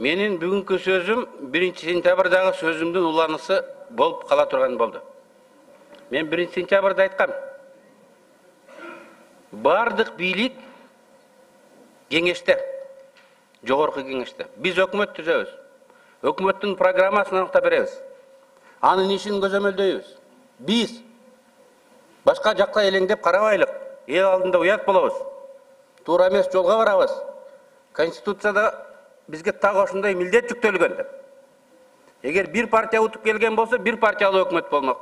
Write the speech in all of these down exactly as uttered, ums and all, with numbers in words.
Менин бүгүнкү сөзүм биринчи сентябрдагы сөзүмдүн уланысы болуп кала турган болду. Мен биринчи сентябрда айткам. Бардык бийлик кеңеште, жогорку кеңеште. Биз өкмөт түзөбүз. Өкмөттүн программасын аныктап беребиз. Анын ишин көзөмөлдөйбүз. Биз башка жакка элеңдеп карабайлык. Эл алдында уят болобуз. Туура эмес жолго барабыз. Конституцияда бизге так ошондой милдет жүктөлгөн. Эгер бир партия утуп келген болсо, бир партиялуу өкмөт болмок.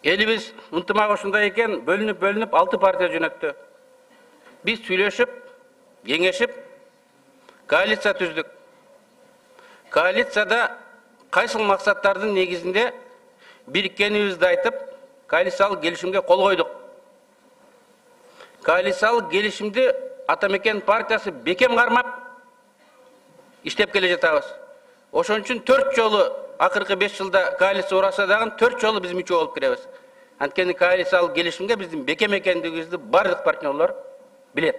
Элибиз ынтымак ошондой экен, бөлүнүп-бөлүнүп алты партия жөнөттү. Биз сүйлөшүп, кеңешип, коалиция түздүк. Коалицияда кайсыл максаттардын негизинде бириккенибизди айтып, коалициялык келишимге кол койдук. Коалициялык келишимди Атамекен партиясы бекем кармап иштеп келе жатабыз. Ошон үчүн төрт жолу акыркы беш жылда коалиция ураса дагы төрт жолу биз мүчө болуп киребиз. Анткени коалициялык келишимге биздин бекем экендигибизди бардык партнерлор билет.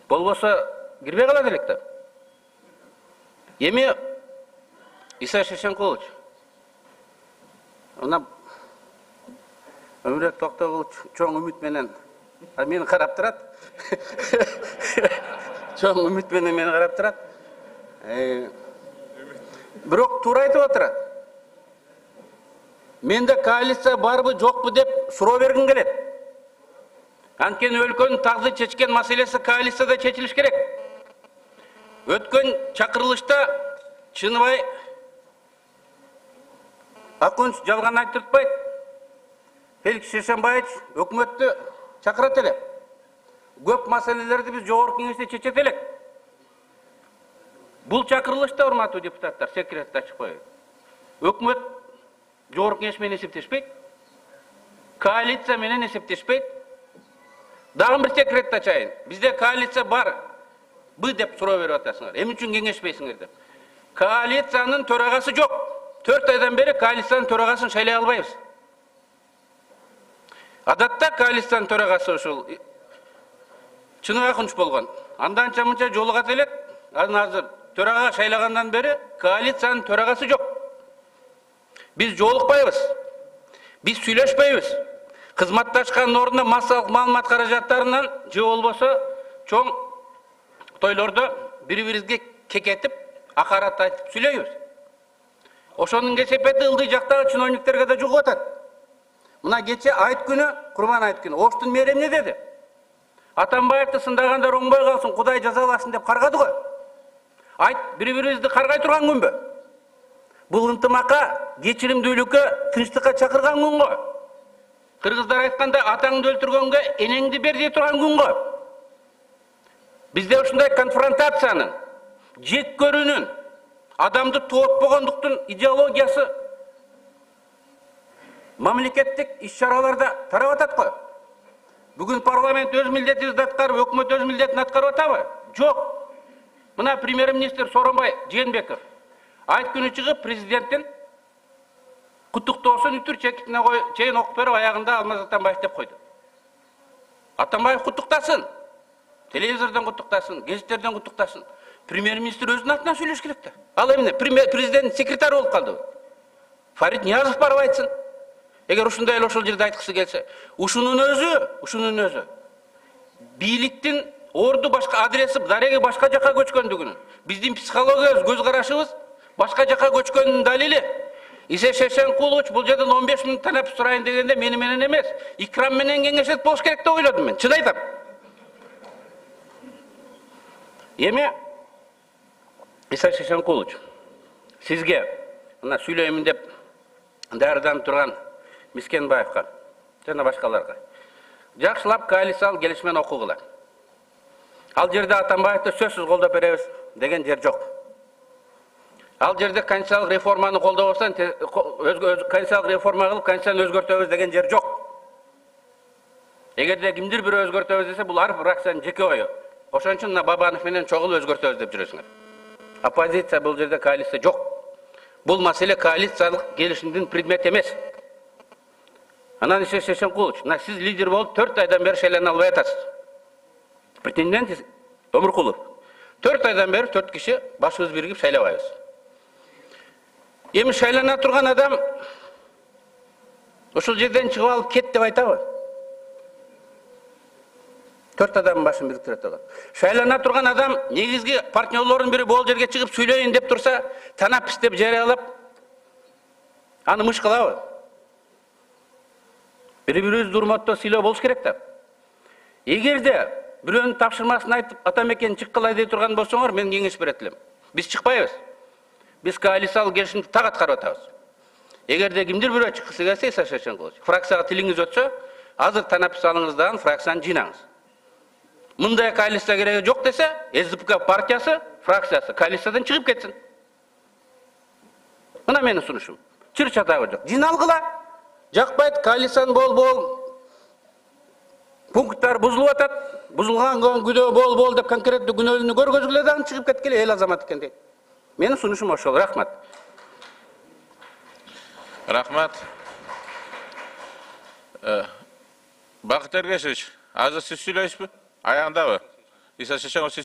Болбосо кирбей калат элек да. Эми Иса Шешенкулович, мына Өмүрөт Токтогулович чоң үмүт менен мени карап турат. Чоң үмүт менен мени карап турат. Бирок туура айтып отурат. Менде коалиция барбы, жокпу деп суроо бергим келет. Анткени өлкөнүн тагды чечкен маселеси коалицияда чечилиш керек. Өткөн чакырылышта Чыныбай Акунч жалган айтыртпайт. Феликс Шешенбаевич өкмөттү чакырат эле. Көп маселелерди биз жогорку кеңеште чечет элек. Бул чакырылышта, урматтуу депутаттар, секретти ачып коеюн. Өкмөт жогорку кеңеш менен эсептешпейт. Коалиция менен эсептешпейт. Дагы бир секретти ачайын. Бизде коалиция бар. Бы деп суроо берип атасыңар. Эмне үчүн кеңешпейсиңер деп. Коалициянын төрагасы жок. төрт айдан бери коалициянын төрагасын шайлай албайбыз. Адатта коалициянын төрагасы ушул Чыныбай Акунч болгон. Анданча мынча жолугат элек. Анан азыр төрага шайлагандан бери коалициянын төрагасы жок. Биз жолукпайбыз. Биз сүйлөшпөйбүз. Кызматташкан ордуна массалык маалымат каражаттарынан же болбосо чоң тойлордо бири-бирибизге кекетип, акарат айтып сүйлөйбүз. Ошонун кесепети ылдый жактагы чиновниктерге да жугуп атат. Мына кече айт күнү, Курман айт күнү, Оштун мэри эмне деди? Атамбаевди сындагандар оңбой калсын, Кудай жазаласын деп каргады го. Айт бири-бирибизди каргай турган күнбү? Бул ынтымакка, кечиримдүүлүккө, тынчтыкка чакырган күн го. Кыргыздар айткандай, атаңды өлтүргөнгө энеңди бер дей турган күн го. Бизде ушундай конфронтациянын, жек көрүүнүн, адамды тоотпогондуктун идеологиясы мамлекеттик иш-чараларда тарап атат го. Бүгүн парламент өз милдетибизди аткарып, өкмөт өз милдетин аткарып атабы? Жок. Мына премьер-министр Сооронбай Жээнбеков айт күнү чыгып президенттин куттуктоосун үтүр чекитине чейин окуп берип, аягында Алмаз Атамбаев деп койду. Атамбаев куттуктасын. Телевизордон куттуктасын, гезиттерден куттуктасын. Премьер-министр өзүнүн атынан сүйлөш керек да. Ал эмне? Президент секретарь болуп калды. Фарид Ниязов барып айтсын. Эгер ушундай эле ошол жерде айткысы келсе, ушунун өзү, ушунун өзү бийликтин орду башка адреси, дареги башка жакка көчкөндүгүнүн, биздин психологиябыз, көз карашыбыз башка жакка көчкөнүнүн далили. Иса Шешенкулович бул жерден он беш мүнөт танап сурайын дегенде мени менен эмес, Икрам менен кеңешет болуш керек деп ойлодум мен. Чын айтам. Эми Иса Шешенкулович, сизге мына сүйлөймүн деп даярданып турган Мискенбаевга жана башкаларга жакшылап коалициялык келишмен окугула. Ал жерде Атамбаевди сөзсүз колдоп беребиз деген жер жок. Ал жерде конституциялык реформаны колдобосон, конституциялык реформа кылып, конституцияны өзгөртөбүз деген жер жок. Эгерде кимдир бир өзгөртөбүз десе, бул ар фракциянын жеке ою. Ошон үчүн мына Бабанов менен чогул өзгөртөбүз деп жүрөсүңөр. Оппозиция бул жерде, коалиция жок. Бул маселе коалициялык келишимдин предмети эмес. Анан Иса Шешенкулович, мына сиз лидер болуп төрт айдан бери шайлана албай атасыз. Претендент Өмүркулов. төрт айдан бeri төрт киши башыбыз биригип шайлабайбыз. Эми шайлана турган адам ушул жерден чыгып алып кет деп айтабы? Төрт адамдын башын бириктире турган. Шайлана турган адам негизги партнерлордун бири бул жерге чыгып сүйлөйүн деп турса, танапис деп жарыялап аны мыш кылабы? Бири-бирибизди урматтоо, сыйлоо болуш керек да. Эгерде бирөөнүн тапшырмасын айтып, атамекен чыккылай дей турган болсоңор, мен кеңеш берет элем. Биз чыкпайбыз. Биз коалициялык келишимди так аткарып атабыз. Эгерде кимдир бирөө чыккысы келсе, Иса Шевченкович, фракцияга тилиңиз өтсө, азыр танапис алыңыз дагы фракцияны жыйнаңыз. Мындай коалиция кереги жок десе, СДПК партиясы, фракциясы коалициядан чыгып кетсин. Мына менин сунушум. Чыр-чатагы жок. Жыйналгыла. Жакпайт, коалицияны бол-бол пункттар бузулуп атат. Бузулган күдөө бол-бол деп конкреттүү күнөөнү көргөзгүлө дагы чыгып кеткиле, эл азамат экен дейт. Менин сунушум ошол. Рахмат. Рахмат. Бакыт Эргешевич, азыр сиз сүйлөйсүзбү? Аягындабы? Иса Шевченкович